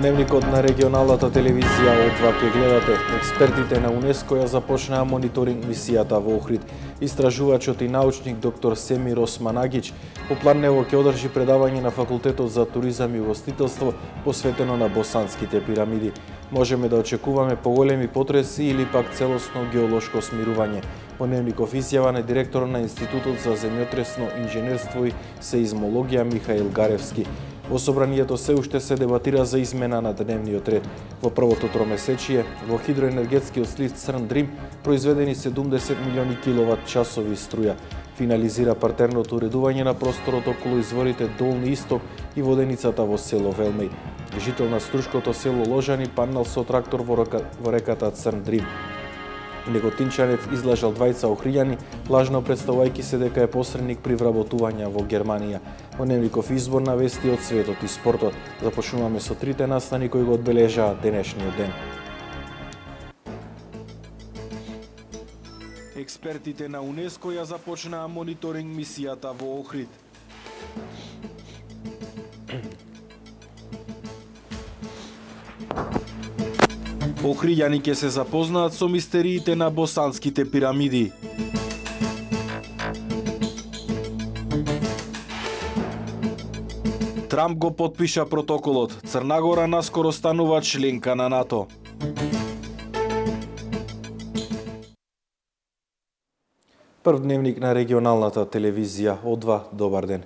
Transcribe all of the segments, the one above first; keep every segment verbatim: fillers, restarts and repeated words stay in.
Дневникот на регионалната телевизија О два ке гледате. Експертите на УНЕСКО ја започнаа мониторинг мисијата во Охрид. Истражувачот и научник доктор Семир Османагич по планево ќе одржи предавање на Факултетот за туризам и угостителство посветено на Босанските пирамиди. Можеме да очекуваме поголеми потреси или пак целосно геолошко смирување. Во Дневников изјава на директор на Институтот за земјотресно инженерство и сеизмологија Михаил Гаревски. Во собранието се уште се дебатира за измена на дневниот ред. Во првото тромесечие, во хидроенергетскиот слив Црн Дрим произведени седумдесет милиони киловат часови струја. Финализира партерното уредување на просторот околу изворите Долни Исток и воденицата во село Велмеј. Жител на Струшкото село Ложани паднал со трактор во, река, во реката Црн Дрим. Неготинчанец излажал двајца охријани, лажно представувајќи се дека е посредник при вработувања во Германија. Во Дневников избор на вести од светот и спортот. Започнуваме со трите настани кои го одбележаа денешниот ден. Експертите на УНЕСКО ја започнаа мониторинг мисијата во Охрид. Охријани ќе се запознаат со мистериите на Босанските пирамиди. Трамп го потпиша протоколот. Црна Гора наскоро станува членка на НАТО. Прв дневник на регионалната телевизија О два, добар ден.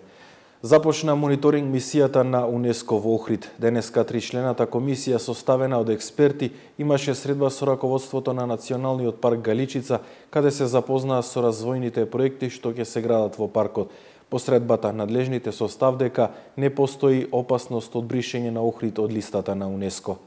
Започна мониторинг мисијата на УНЕСКО во Охрид. Денеска тричлената комисија составена од експерти имаше средба со раководството на Националниот парк Галичица, каде се запознаа со развојните проекти што ќе се градат во паркот. По средбата надлежните со став дека не постои опасност од бришење на Охрид од листата на УНЕСКО.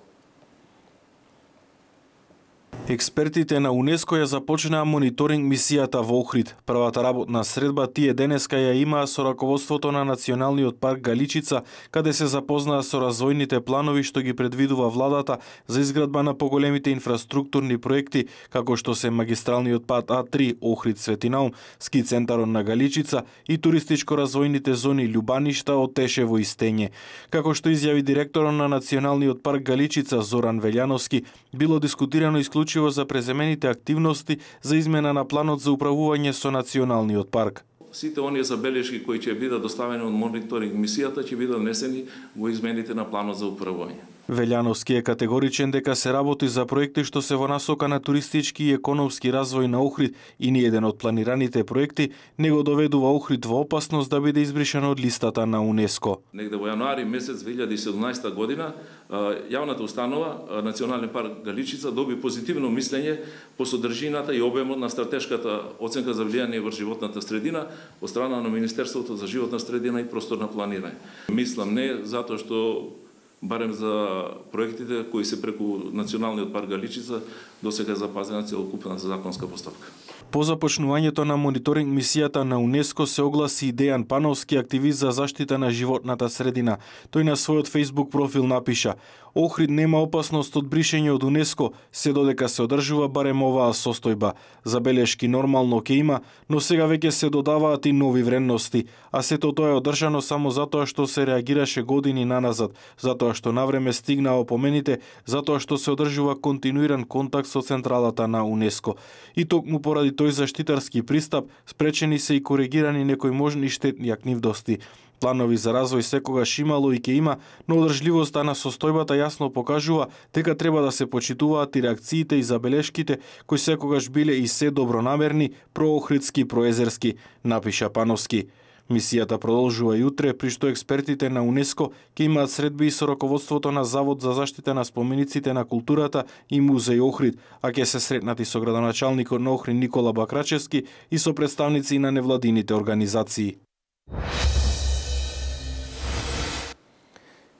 Експертите на УНЕСКО ја започнаа мониторинг мисијата во Охрид. Првата работна средба тие денеска ја имаа со раководството на Националниот парк Галичица, каде се запознаа со развојните планови што ги предвидува владата за изградба на поголемите инфраструктурни проекти, како што се магистралниот пат А три Охрид-Светинаум, ски центарот на Галичица и туристичко-развојните зони Љубаништа, Отешево и Стење. Како што изјави директорот на Националниот парк Галичица Зоран Велјановски, било дискутирано исклучиво за преземените активности за измена на планот за управување со Националниот парк. Сите оние забелешки кои ќе бидат доставени од мониторинг мисијата ќе бидат внесени во измените на планот за управување. Велјановски е категоричен дека се работи за проекти што се во насока на туристички и економски развој на Охрид и ни еден од планираните проекти не го доведува Охрид во опасност да биде избришан од листата на УНЕСКО. Негде во јануари месец две илјади и седумнаесета година јавната установа Национален парк Галичица доби позитивно мислење по содржината и обемот на стратешката оценка за влијание врз животната средина од страна на Министерството за животна средина и просторно планирање. Мислам не затоа што барем за проектите кои се преку Националниот парк Галичица досега запазена целокупна законска постапка. По започнувањето на мониторинг мисијата на УНЕСКО се огласи и Дејан Пановски, активист за заштита на животната средина. Тој на својот Facebook профил напиша: Охрид нема опасност од бришење од УНЕСКО, се додека се одржува барем оваа состојба. Забелешки нормално ќе има, но сега веќе се додаваат и нови вредности, а сето тоа е одржано само затоа што се реагираше години наназад, затоа што навреме стигнаа опомените, затоа што се одржува континуиран контакт со централата на УНЕСКО. И токму поради тој заштитарски пристап, спречени се и коригирани некои можни штетни активности. Планови за развој секогаш имало и ќе има, но одржливоста на состојбата јасно покажува дека треба да се почитуваат и реакциите и забелешките кои секогаш биле и се добронамерни, проохридски, проезерски, напиша Пановски. Мисијата продолжува и утре, при што експертите на УНЕСКО ќе имаат средби и со раководството на Завод за заштита на спомениците на културата и Музеј Охрид, а ќе се сретнати со градоначалникот на Охрид Никола Бакрачевски и со представници на невладините организации.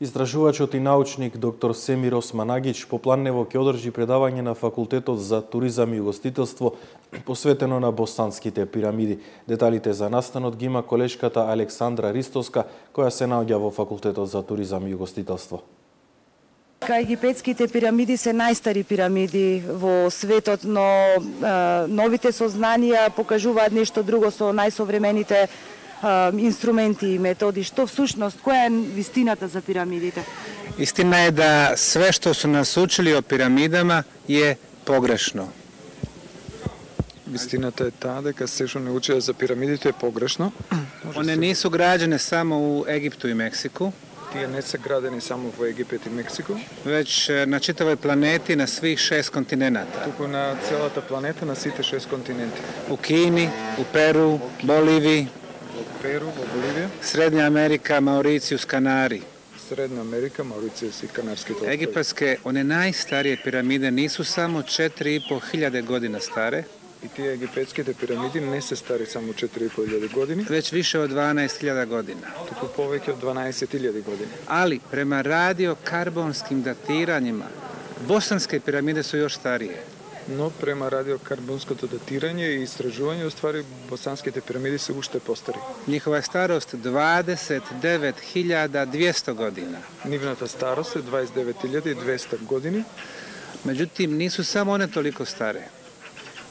Истражувачот и научник доктор Семир Османагич по планево ќе одржи предавање на Факултетот за туризам и угостителство посветено на Босанските пирамиди. Деталите за настанот ги има колешката Александра Ристоска, која се наоѓа во Факултетот за туризам и угостителство. Египетските пирамиди се најстари пирамиди во светот, но е, новите сознанија покажуваат нешто друго со најсовремените инструменти и методи, што всушност, која е вистината за пирамидите? Istina je da sve što su nas učili o piramidama je pogrešno. Вистината е таа дека се што не учеа за пирамидите е погрешно. One nisu građene samo u Egiptu i Meksiku, Тие не се градени само во Египет и Мексико, već na čitavoj planeti na svih šest kontinenata. туку на целата планета, на сите шест континенти. U Kini, u Peru, Boliviji, Во Перу, во Боливија, Srednja Amerika, Mauricijus, Kanari. Средна Америка, Мауриција и Канарските острови. Egipatske, one najstarije piramide nisu samo četiri i po hiljade godina stare, И тие египетските пирамиди не се стари само четири и по илјади години, već više od dvanaest hiljada godina. туку повеќе од дванаесет илјади години. Ali prema radiokarbonskim datiranjima, bosanske piramide su još starije. Но према радиокарбонското датирање и истражување, уствари босанските пирамиди се уште постари. Njihova je starost dvadeset devet hiljada dvjesto godina. Нивната старост е дваесет и девет илјади и двесте години, Međutim, nisu samo one toliko stare.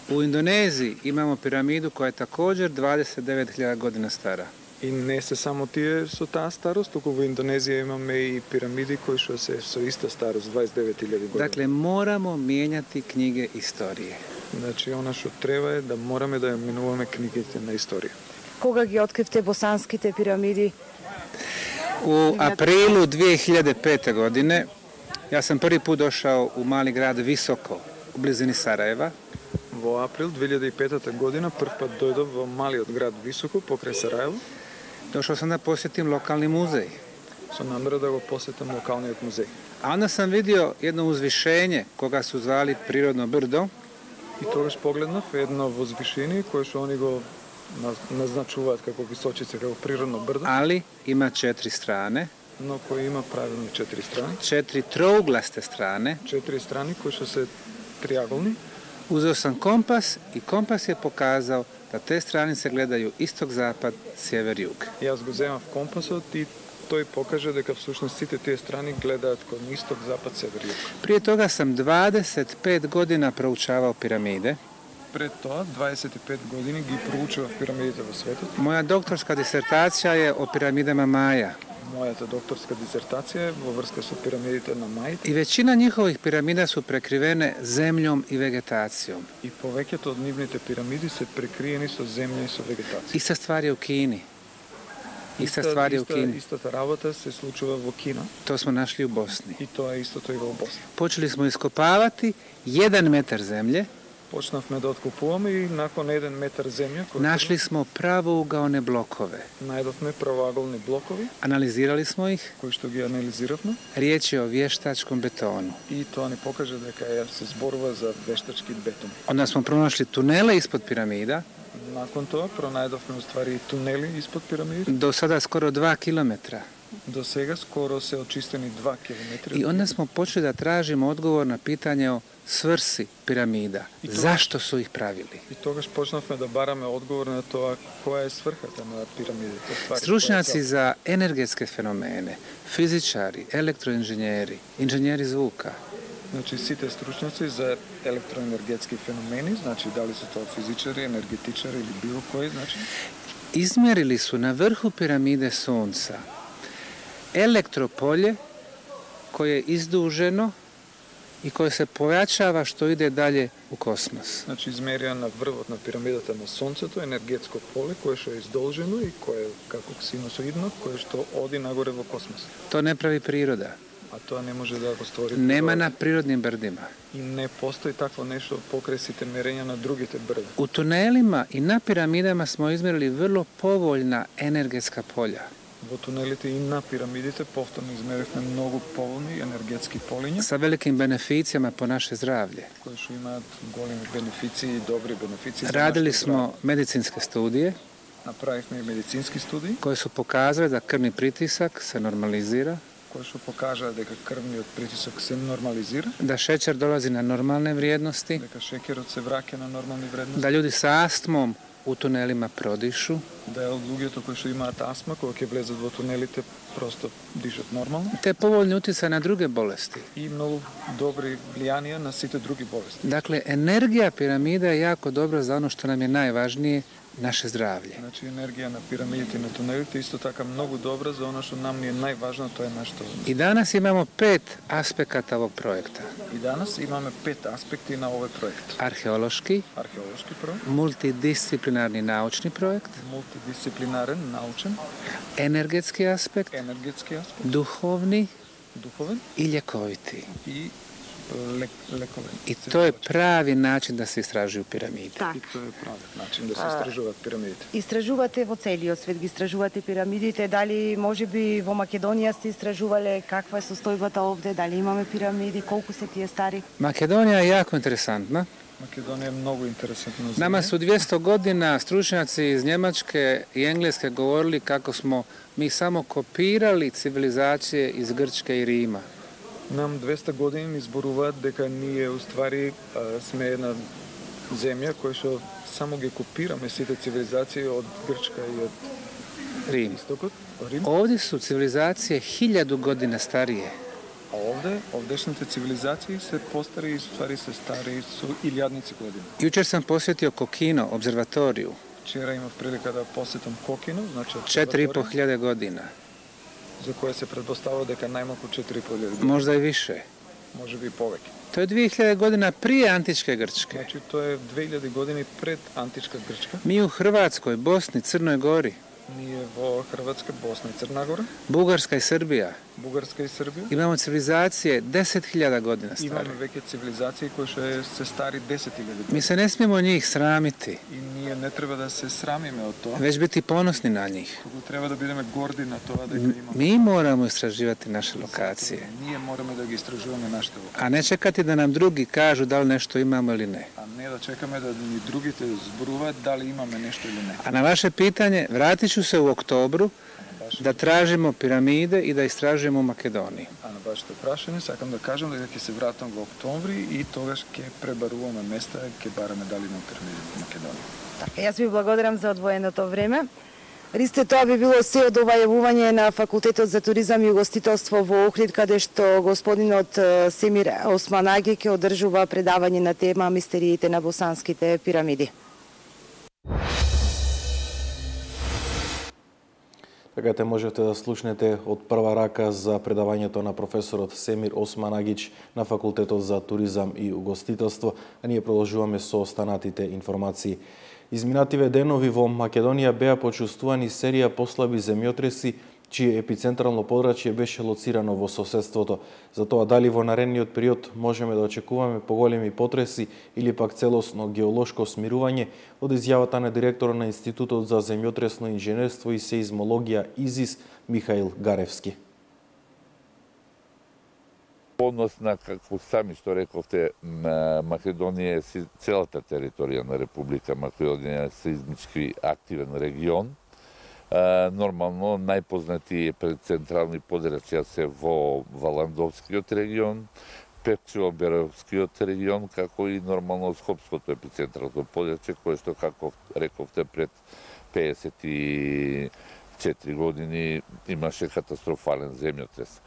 U Indoneziji imamo piramidu koja je također dvadeset devet hiljada godina stara. и не се само тие со таа старост, туку во Индонезија имаме и пирамиди кои што се со иста старост, дваесет и девет илјади години. Dakle, moramo mijenjati knjige istorije. Значи, она што треба е да мораме да ја менуваме книгите на историја. Кога ги откривте босанските пирамиди? U aprilu dvije hiljade pete. godine ja sam prvi put došao u mali grad Visoko, u blizini Sarajeva. Во април две илјади и пета година прв пат дојдов во малиот град Високо, покрај Сараево, Došao sam da posjetim lokalni muzej. со намера да го посетам локалниот музеј. A onda sam vidio jedno uzvišenje koga su zvali Prirodno brdo. И тогаш погледнав едно возвишение кое што они го наз- назначуваат како височица, како природно брдо, Ali ima četiri strane, но кој има правилно четири страни. četiri trouglaste strane. Четири страни кои што се триаголни. Uzeo sam kompas i kompas je pokazao da te stranice gledaju istok-zapad, sjever-jug. Јас го земав компасот и тој покаже дека всушност сите тие страни гледаат кон исток, запад, север, југ. Prije toga sam dvadeset pet godina proučavao piramide. Пред тоа, дваесет и пет години ги проучував пирамидите во светот. Moja doktorska disertacija je o piramidama Maja. Мојата докторска дисертација е во врска со пирамидите на Мајт I većina njihovih piramida su prekrivene zemljom i vegetacijom. и повеќето од нивните пирамиди се прекриени со земја и со вегетација. Ista stvar je u Kini. Ista stvar je u иста, Kini. истата работа се случува во Кина To smo našli u Bosni. и тоа е истото и во Босна. Počeli smo iskopavati jedan metar zemlje, Почнавме да откупуваме и након еден метар земја кој našli smo pravougaone blokove. најдовме правоаголни блокови Analizirali smo ih, кои што ги анализиравме riječ je o vještačkom betonu. и тоа ни покажа дека ја се зборува за вештачки бетон. Onda smo pronašli tunele ispod piramida, Након тоа пронајдовме уствари тунели испод пирамидите. do sada skoro dva kilometra. До сега скоро се очистени два километри. I onda smo počeli da tražimo odgovor na pitanje o svrsi piramida. Zašto su ih pravili? И тогаш почнавме да бараме одговор на тоа која е сврхата на пирамидите. Ствари, Stručnjaci za energetske fenomene, fizičari, elektroinženjeri, inženjeri zvuka, Значи сите стручњаци за електроенергетски феномени, значи дали се тоа физичари, енергетичари или било кој, значи izmjerili su na vrhu piramide Sunca elektropolje koje je izduženo i koje se pojačava što ide dalje u kosmos. Значи измерија на врвот на пирамидата на Сонцето енергетско поле кое што е издолжено и кое е како синусоидно, кое што оди нагоре во космос. To ne pravi priroda. А тоа не може да го створи. Nema природа. na prirodnim brdima. И не постои такво нешто покрај сите мерења на другите брда. U tunelima i na piramidama smo izmjerili vrlo povoljna energetska polja. Во тунелите и на пирамидите повторно измеривме многу поволни енергетски полиња Sa velikim beneficijama po naše zdravlje. кои што имаат големи бенефиции и добри бенефиции. за Radili нашето smo medicinske studije здравје. Направивме и медицински студии koje su pokazale da krvni pritisak se normalizira, кои што покажаа дека крвниот притисок се нормализира, da šećer dolazi na normalne vrijednosti, дека шеќерот се враќа на нормални вредности, da ljudi sa astmom u tunelima prodišu, да од луѓето кои што имаат астма, кога ќе влезат во тунелите, просто дишат нормално te povoljni utjecaj na druge bolesti. и многу добри влијанија на сите други болести. Dakle, energija piramida je jako dobra za ono što nam je najvažnije, naše zdravlje. Значи енергија на пирамидите и на тунелите исто така многу добра за она што нам ни е најважно, тоа е нашето. I danas imamo pet aspekata ovog projekta. И данас имаме пет аспекти на овој проект. Arheološki, Археолошки проект, multidisciplinarni naučni projekt, мултидисциплинарен, научен, energetski aspekt, енергетски аспект, duhovni духовен i ljekoviti. и лек, лековен. I to je pravi način da se istražuju piramide. Так. И тоа е правиот начин да се истражуваат пирамидите. Истражувате во целиот свет, ги истражувате пирамидите, дали можеби во Македонија сте истражувале каква е состојбата овде, дали имаме пирамиди, колку се тие стари? Makedonija je jako interesantna. Македонија е многу интересантна земја. Nama su dvjesto godina stručnjaci iz Njemačke i Engleske govorili kako smo mi samo kopirali civilizacije iz Grčke i Rima. Нам двеста години ни зборуваат дека ние уствари сме една земја која што само ги копираме сите цивилизации од Грчка и од Rim. Истокот, Рим. Ovdje su civilizacije hiljadu godina starije. А овде, овдешните цивилизации се постари и ствари се стари со илјадници години. Jučer sam posjetio Kokino, observatoriju, Вчера имав прилика да посетам Кокино, значи četiri i pol обсерваторија, hiljade godina, за која се предпоставува дека најмалку четири и пол илјади, možda i više. можеби и повеќе. To je dvije hiljade godina prije antičke Grčke. Значи тоа е две илјади години пред античка Грчка. Mi u Hrvatskoj, Bosni, Crnoj Gori, Ние во Хрватска, Босна и Црна Гора, Bugarska i Srbija Бугарска и Србија, imamo civilizacije deset hiljada godina stare. имаме веќе цивилизации кои што е- се стари десет илјади години. Mi se ne smijemo njih sramiti, И ние не треба да се срамиме од тоа, već biti ponosni na njih. туку треба да бидеме горди на тоа дека M- имаме. Mi moramo istraživati naše lokacije, Ние мораме да ги истражуваме нашите локации, a ne čekati da nam drugi kažu da li nešto imamo ili ne. а не да чекаме да ни другите зборуваат дали имаме нешто или не. A na vaše pitanje, vratit ću se u oktobru da tražimo piramide i da istražujemo u Makedoniji. А на вашето прашање сакам да кажам дека ќе се вратам во октомври и тогаш ќе пребаруваме места, ќе бараме дали на пирамиди во Македонија. Така, јас ви благодарам за одвоеното време. Ристе, тоа би било се од ова јавување на Факултетот за туризам и угостителство во Охрид, каде што господинот е, Семир Османаги ќе одржува предавање на тема Мистериите на босанските пирамиди. Така те можете да слушнете од прва рака за предавањето на професорот Семир Османагич на Факултетот за туризам и угостителство, а ние продолжуваме со останатите информации. Изминативе денови во Македонија беа почувствувани серија послаби земјотреси, чие епицентрално подрачје беше лоцирано во соседството. Затоа дали во наредниот период можеме да очекуваме поголеми потреси или пак целосно геолошко смирување, од изјавата на директор на Институтот за земјотресно инженерство и сеизмологија ИЗИС Михаил Гаревски. Однос на, како сами што рековте, на Македонија е си- целата територија на Република Македонија е сеизмички активен регион. А, нормално најпознати е пред централни подрачја се во Валандовскиот регион, Певчево-Беровскиот регион, како и нормално Скопското епицентрално подрачје, кое што, како рековте, пред пеесет и четири години имаше катастрофален земјотрес.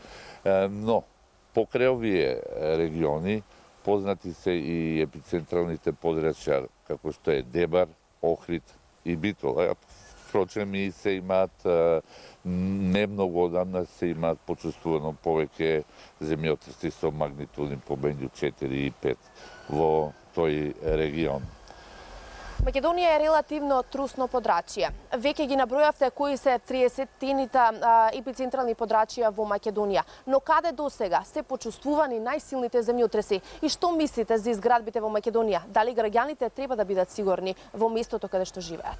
А, но, покрај овие региони, познати се и епицентралните подрачја, како што е Дебар, Охрид и Битола. Впрочем, и се имаат, не многу одамна, се имаат почувствувано повеќе земјотреси со магнитуди помеѓу четири и пет во тој регион. Македонија е релативно трусно подрачје. Веќе ги набројавте кои се триесеттините епицентрални подрачја во Македонија. Но каде досега се почувствувани најсилните земјотреси и што мислите за изградбите во Македонија? Дали граѓаните треба да бидат сигурни во местото каде што живеат?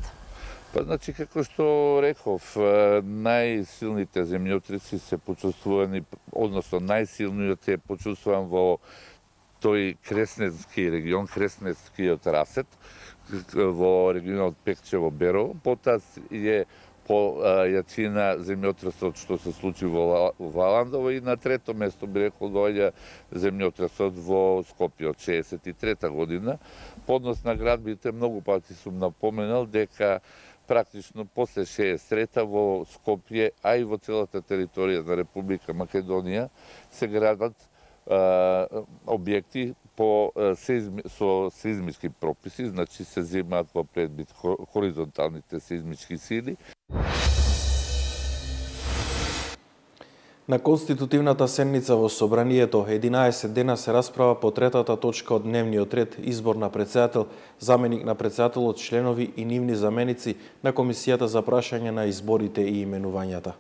Па, значи, како што реков, најсилните земјотреси се почувствувани, односно најсилниот е почувствуван во тој Кресненски регион, Кресненскиот расет, во регионот Пекчево-Берово, потоа е по јачина земјотресот што се случи во Валандово и на трето место би рекол доаѓа земјотресот во Скопје од шеесет и трета година. Поднос на градбите многу пати сум напоменал дека практично после шеесет и трета во Скопје, а и во целата територија на Република Македонија се градат а, објекти по сезми, со сезмички прописи, значи се земаат во предвид хоризонталните сезмички сили. На конститутивната седница во Собранието единаесет дена се расправа по третата точка од дневниот ред, избор на председател, заменик на председателот, членови и нивни заменици на Комисијата за прашање на изборите и именувањата.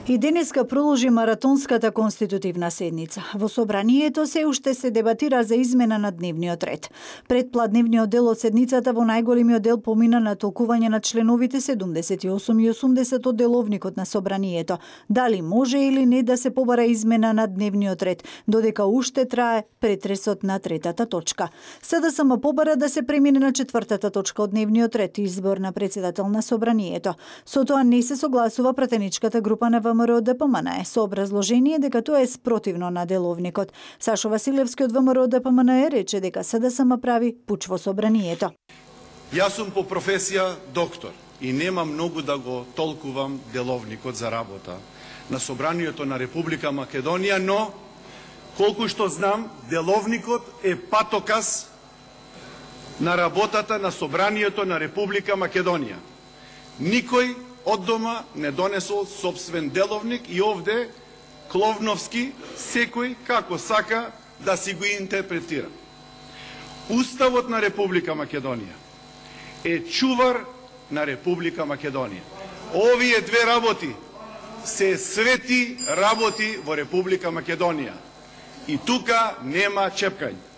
И денеска продолжи маратонската конститутивна седница. Во Собранието се уште се дебатира за измена на дневниот ред. Предпладневниот дел од седницата во најголемиот дел помина на толкување на членовите седумдесет и осум и осумдесет од деловникот на Собранието. Дали може или не да се побара измена на дневниот ред, додека уште трае претресот на третата точка. СДСМ побара да се премине на четвртата точка од дневниот ред, избор на председател на Собранието. Со тоа не се согласува пратеничката група на ВМРО ДПМН со образложение дека тоа е спротивно на деловникот. Сашо Василевски од ВМРО ДПМН рече дека СДСМ прави пуч во Собранието. Јас сум по професија доктор и нема многу да го толкувам деловникот за работа на Собранието на Република Македонија, но колку што знам, деловникот е патоказ на работата на Собранието на Република Македонија. Никој од дома не донесол собствен деловник и овде Кловновски секој како сака да си го интерпретира. Уставот на Република Македонија е чувар на Република Македонија. Овие две работи се свети работи во Република Македонија. И тука нема чепкање.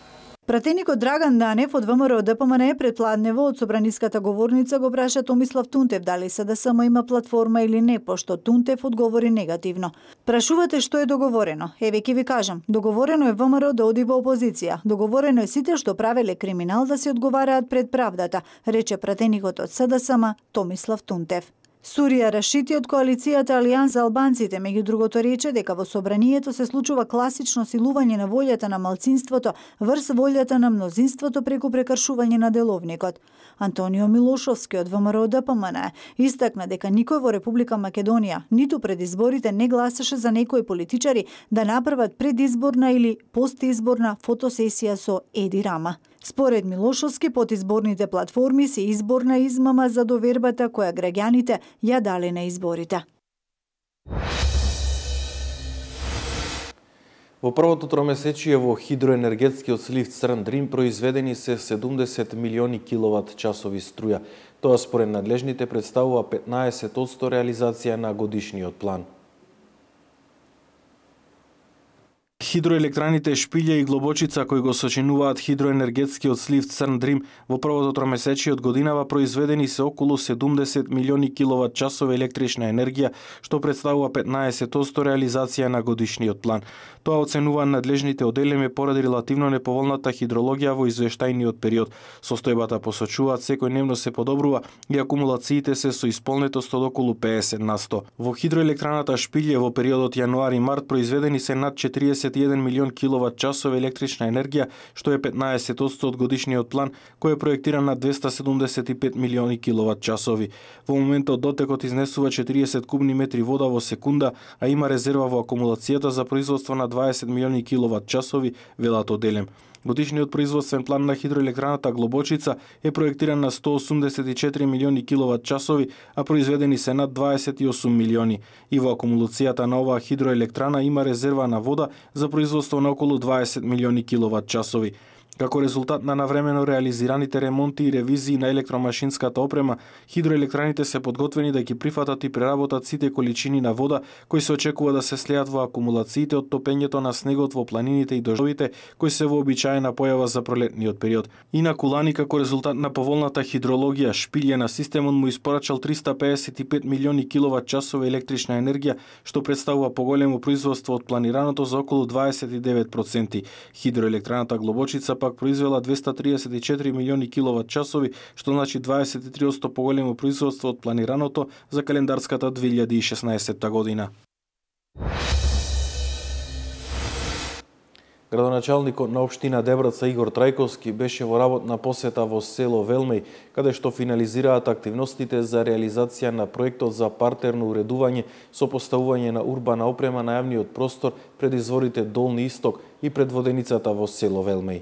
Пратеникот Драган Данев од ВМРО ДПМН предпладнево од собраниската говорница го праша Томислав Тунтев дали СДСМ има платформа или не, пошто Тунтев одговори негативно. Прашувате што е договорено? Еве ќе ви кажам, договорено е ВМРО да оди во опозиција. Договорено е сите што правеле криминал да се одговараат пред правдата, рече пратеникот од СДСМ Томислав Тунтев. Сурија Рашити од коалицијата Алијанс за албанците, меѓу другото рече дека во Собранието се случува класично силување на волјата на малцинството врз волјата на мнозинството преку прекршување на деловникот. Антонио Милошовски од ВМРО ДПМН истакна дека никој во Република Македонија ниту пред изборите не гласаше за некои политичари да направат предизборна или постизборна фотосесија со Еди Рама. Според Милошовски, подизборните платформи се изборна измама за довербата која граѓаните ја дале на изборите. Во првото тромесечие во хидроенергетскиот слив Црн Дрим произведени се седумдесет милиони киловат часови струја. Тоа според надлежните представува петнаесет одсто реализација на годишниот план. Хидроелектраните Шпилја и Глобочица, кои го сочинуваат хидроенергетскиот слив Црн Дрим, во првото тромесечие од годинава произведени се околу седумдесет милиони киловат часови електрична енергија, што представува петнаесет одсто реализација на годишниот план. Тоа оценува надлежните одделими поради релативно неповолната хидрологија во извештајниот период. Состојбата посочуваат секој дневно се подобрува и акумулациите се со исполнетост од околу пеесет на сто. Во хидроелектраната Шпилје во периодот јануари-март произведени се над четириесет и еден милион киловат часови електрична енергија, што е петнаесет одсто од годишниот план, кој е проектиран на двеста седумдесет и пет милиони киловат часови. Во моментот дотекот изнесува четириесет кубни метри вода во секунда, а има резерва во акумулацијата за производство на дваесет милиони киловат часови, велат одделем. Годишниот производствен план на хидроелектраната Глобочица е проектиран на сто осумдесет и четири милиони киловат часови, а произведени се над дваесет и осум милиони. И во акумулацијата на оваа хидроелектрана има резерва на вода за производство на околу дваесет милиони киловат часови. Како резултат на навремено реализираните ремонти и ревизии на електромашинската опрема, хидроелектраните се подготвени да ги прифатат и преработат сите количини на вода кои се очекува да се слеат во акумулациите од топењето на снегот во планините и дождовите, кои се вообичаена појава за пролетниот период. И на Кулани, како резултат на поволната хидрологија, Шпилје на системот му испорачал триста пеесет и пет милиони киловат часови електрична енергија, што представува поголемо производство од планираното за околу дваесет и девет проценти. Хидроелектраната Глобочица пак произвела двеста триесет и четири милиони киловат часови, што значи дваесет и три одсто поголемо производство од планираното за календарската две илјади и шеснаесетта година. Градоначалникот на општина Дебраца Игор Трајковски беше во работна посета во село Велмеј, каде што финализираат активностите за реализација на проектот за партерно уредување со поставување на урбана опрема на јавниот простор пред изворите Долни Исток и пред воденицата во село Велмеј.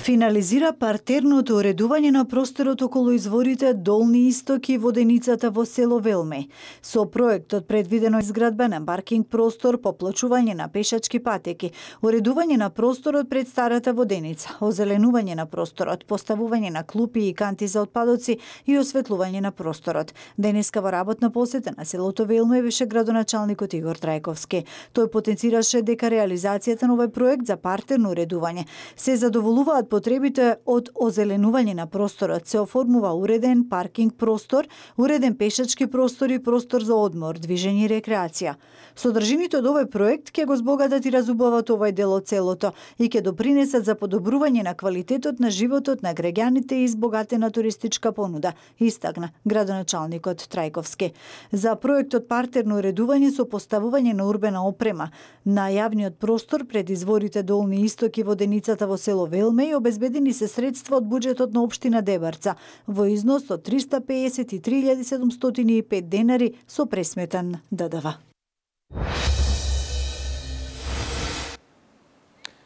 Финализира партерното уредување на просторот околу изворите Долни Исток и воденицата во село Велмеј. Со проектот предвидено изградба на паркинг простор, поплачување на пешачки патеки, уредување на просторот пред старата воденица, озеленување на просторот, поставување на клупи и канти за отпадоци и осветлување на просторот. Денеска во работна посета на селото Велмеј беше градоначалникот Игор Трајковски. Тој потенцираше дека реализацијата на овој проект за партерно уредување се задоволуваат потребите од озеленување на просторот, се оформува уреден паркинг простор, уреден пешачки простор и простор за одмор, движење и рекреација. Содржините од овој проект ќе го збогатат и разубават овој дел од селото и ќе допринесат за подобрување на квалитетот на животот на граѓаните и избогатена туристичка понуда, истакна градоначалникот Трајковски. За проектот партерно уредување со поставување на урбена опрема на јавниот простор пред изворите Долни Исток и воденицата во село Велмеј обезбедени се средства од буџетот на општина Дебарца во износ од триста пеесет и три илјади седумстотини и пет денари со пресметан Д Д В.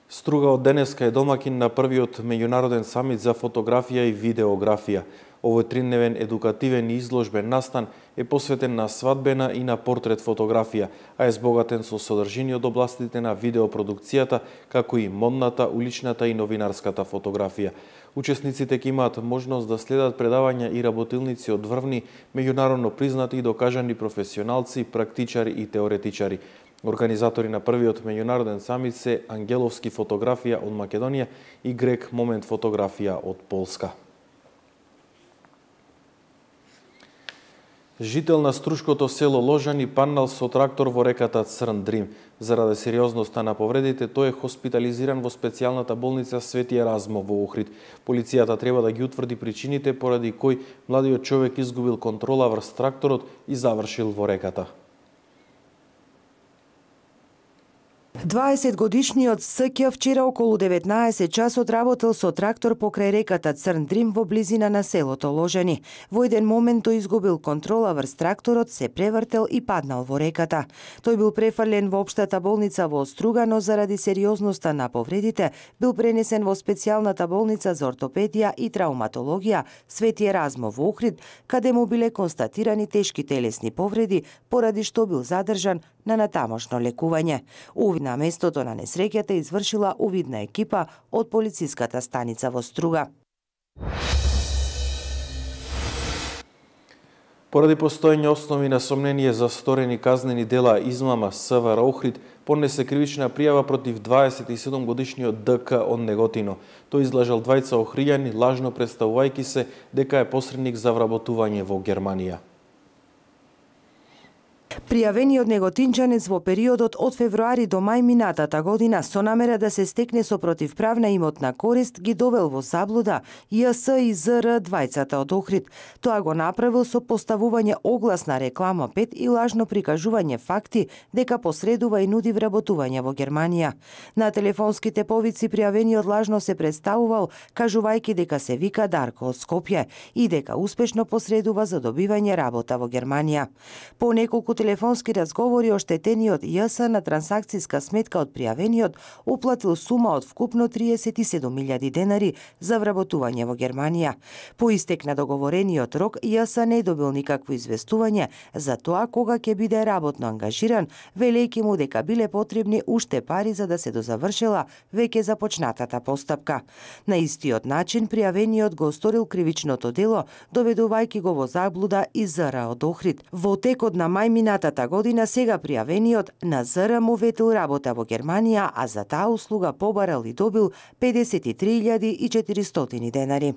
Струга од денеска е домакин на првиот меѓународен самит за фотографија и видеографија. Овој тридневен едукативен и изложбен настан е посветен на свадбена и на портрет фотографија, а е збогатен со содржини од областите на видеопродукцијата, како и модната, уличната и новинарската фотографија. Учесниците ќе имаат можност да следат предавања и работилници од врвни, меѓународно признати и докажани професионалци, практичари и теоретичари. Организатори на првиот меѓународен самит се Ангеловски фотографија од Македонија и Грек Момент фотографија од Полска. Жител на струшкото село Ложани паднал со трактор во реката Црн Дрим. Заради сериозноста на повредите, тој е хоспитализиран во специјалната болница Свети Еразмо во Охрид. Полицијата треба да ги утврди причините поради кој младиот човек изгубил контрола врз тракторот и завршил во реката. дваесетгодишниот С Ќ вчера околу деветнаесет часот работел со трактор покрај реката Црн Дрим во близина на селото Ложани. Во еден момент тој изгубил контрола врз тракторот, се превртел и паднал во реката. Тој бил префрлен во општата болница во Струга, но заради сериозноста на повредите бил пренесен во специјалната болница за ортопедија и травматологија Свети Еразмо во Охрид, каде му биле констатирани тешки телесни повреди, поради што бил задржан на натамошно лекување. Увид на местото на несреќата извршила увидна екипа од полициската станица во Струга. Поради постоење основи на сомнение за сторени казнени дела измама, С В Р Охрид поднесе кривична пријава против дваесет и седум годишниот Д К од Неготино. Тој излажал двајца охријани, лажно представувајќи се дека е посредник за вработување во Германија. Пријавениот неготинчанец во периодот од февруари до мај минатата година со намера да се стекне со противправна имотна корист ги довел во заблуда Ј С и З Р двајцата од Охрид. Тоа го направил со поставување оглас на реклама пет и лажно прикажување факти дека посредува и нуди вработување во Германија. На телефонските повици пријавениот лажно се представувал кажувајќи дека се вика Дарко од Скопје и дека успешно посредува за добивање работа во Германија. По неколку телефонски разговори оштетениот Ј С на трансакцијска сметка од пријавениот уплатил сума од вкупно триесет и седум илјади денари за вработување во Германија. По истек на договорениот рок, Ј С не добил никакво известување за тоа кога ќе биде работно ангажиран, велејќи му дека биле потребни уште пари за да се дозавршила веќе започнатата постапка. На истиот начин пријавениот го сторил кривичното дело, доведувајќи го во заблуда и З Р од Охрид. Во текот на мај минатата година сега пријавениот на З Р му ветил работа во Германија, а за таа услуга побарал и добил педесет и три илјади и четиристотини денари.